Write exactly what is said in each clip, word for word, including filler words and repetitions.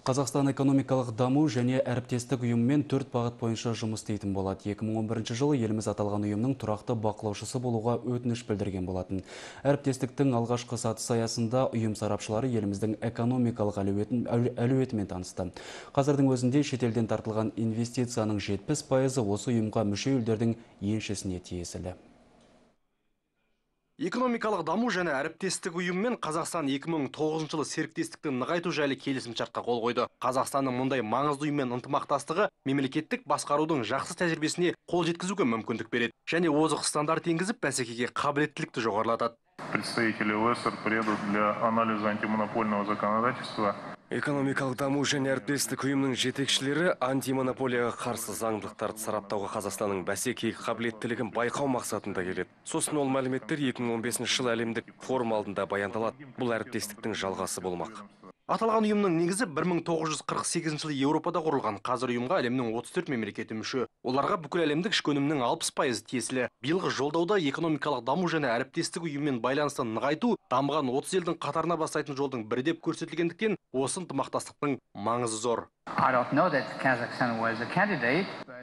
Қазақстан экономикалық даму және әріптестік ұйымымен төрт бағыт бойынша жұмыс істейтін болады. екі мың он бірінші жылы еліміз аталған ұйымның тұрақты бақылаушысы болуға өтініш білдірген болатын. Әріптестіктің алғашқы сатысы аясында ұйым сарапшылары еліміздің экономикалық әлеуетін, әлеуетімен танысты. Қазірдің өзінде шетелден тартылған инвестицияның жетпіс пайызы осы ұйымға мүше елдердің еншісіне тиесілі. Экономикалық даму және әріптестік ұйымымен Қазақстан екі мың тоғызыншы жылы серіктестікті нығайту жайлы келісімшартқа қол қойды. Қазақстанның мұндай маңызды ұйыммен ынтымақтастығы мемлекеттік басқарудың жақсы тәжірибесіне қол жеткізуге мүмкіндік береді және озық стандарт енгізіп, бәсекеге қабілеттілікті жоғарылатады. Представители ОЭСР приедут для анализа антимонопольного законодательства. Экономикалық даму және әріптестік ұйымның жетекшілері антимонополияға қарсы заңдылықтарды сараптауға Қазақстанның бәсекеге қабілеттілігін байқау мақсатында келеді. Сосын ол мәліметтер екі мың он бесінші жылы әлемдік форум алдында баяндалады. Бұл әріптестіктің жалғасы болмақ. Аталған ұйымның негізі бір мың тоғыз жүз қырық сегізінші жылы Еуропада құрылған. Қазір ұйымға әлемнің отыз төрт мемлекеті мүше. Оларға бүкіл әлемдік ішкі өнімнің алпыс пайызы тиесілі. Биылғы жолдауда экономикалық даму және әріптестік ұйыммен байланысты нығайту дамыған отыз елдің қатарына бастайтын жолдың бірі деп көрсетілгендіктен осы ынтымақтастықтың маңызы зор.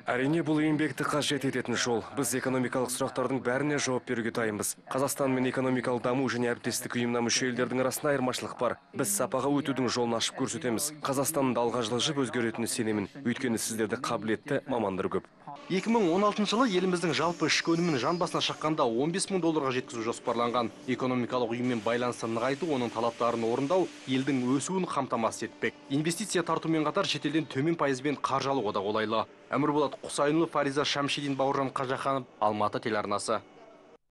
Әрине, бұл еңбекті қажет ететін жол. Біз экономикалық сұрақтардың бәріне жауап беруге дайынбыз. Қазақстан мен экономикалық даму және әріптестік ұйымына мүше елдердің арасында айырмашылық бар. Біз сапаға өтудің жолын ашып көрсетеміз. Қазақстанның да алға жылжып өзгеретініне сенемін. Өйткені сіздерде қабілетті мамандар көп. екі мың он алтыншы жылы еліміздің жалпы ішкі өнімін жан басына шаққанда он бес мың долларға жеткізу жоспарланған. Экономикалық ұйыммен байланысты нығайту, оның талаптарын орындау елдің өсуін қамтамасыз етпек. Инвестиция тартумен қатар шетелден төмен пайызбен қаржы алуға да қолайлы. Әмірболат Құсайынұлы, Фариза Шамшидин, Бауыржан Қажаханов, Алматы телеарнасы.